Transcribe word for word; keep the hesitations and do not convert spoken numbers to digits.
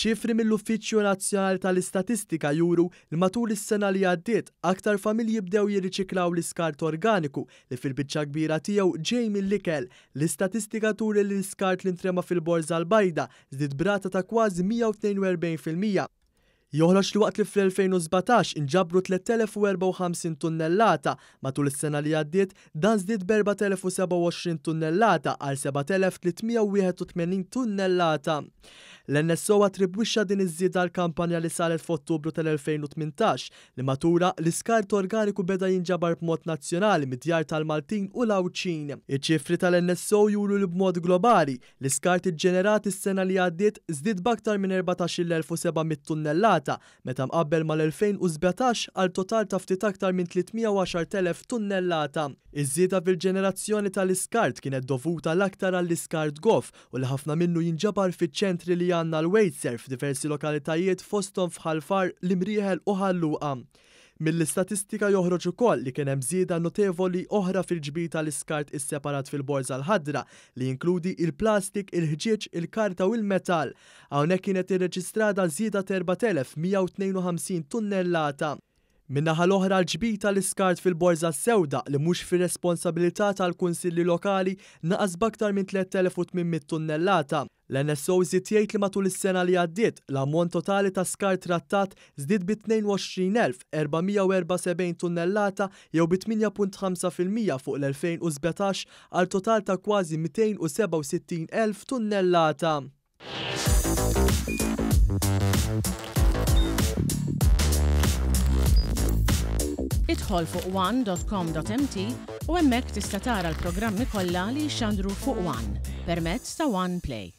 Ċifri mill-Uffiċċju Nazzjonali tal-Istatistika juru li matul is-sena li għaddiet aktar familji bdew jirriċiklaw l-iskart organiku li fil-biċċa kbira tiegħu ġej mill-ikel. L-istatistika turi li l-iskart li ntrema fil-borża l-bajda żdied b'rata ta' kważi mija u tnejn u erbgħin fil-mija. Joħroġ li waqt li fl-elfejn u sbatax inġabru tliet elef u erbgħa u ħamsin tunnellata, matul is-sena li għaddiet dan żdied b'erbat elef u sebgħa u għoxrin tunnellata għal sebat elef tliet mija u wieħed u tmenin tunnellata. L-N S O attribwixxa din iż-żieda għal kampanja li saret f'Ottubru tal-elfejn u tmintax li matulha l-iskart organiku beda jinġabar b'mod nazzjonali mid-djar tal-Maltin u l-Għawdxin. Iċ-ċifri tal-N S O juru li b'mod globali l-iskart iġġenerat is-sena li għaddiet żdied b'aktar minn erbatax-il elf u seba' mitt tunnellata meta mqabbel mal-elfejn u sbatax għal total ta' ftit aktar minn tliet mija u għaxar elef tunnellata. Iż-żieda fil-ġenerazzjoni tal-iskart kienet dovuta l-aktar għall-iskart goff u li ħafna minnu jinġabar fiċ-ċentri li għandna l-WasteServ f'diversi lokalitajiet fosthom f'Ħal Far, l-Imrieħel u Ħal Luqa. Mill-istatistika joħroġ ukoll li kien hemm żieda notevoli oħra fil-ġbir tal-iskart isseparat fil-borża l-ħadra li jinkludi il-plastik, il-ħġieġ, il-karta u il-metall. Hawnhekk kienet irreġistrata żieda ta' erbat elef mija u tnejn u ħamsin tunnellata. Min-naħa l-oħra l-ġbir tal-iskart fil-borża sewda li mhux fir-responsabilità tal-kunsilli lokali naqas b'aktar minn tliet elef u tmien mitt tunnellata. L-N S O żied jgħid li matul is-sena li għaddiet l-ammont totali ta' skart trattat żdied bi tnejn u għoxrin elf erba' mija u erbgħa u sebgħin tunnellata jew bi tmienja punt ħamsa fil-mija fuq l-elfejn u sbatax għal total ta' kważi mitejn u sebgħa u sittin elf tunnellata. Idħol fuq one dot com dot M T u hemmhekk tista' tara l-programmi kollha li jixxandru fuq One permezz ta' One Play.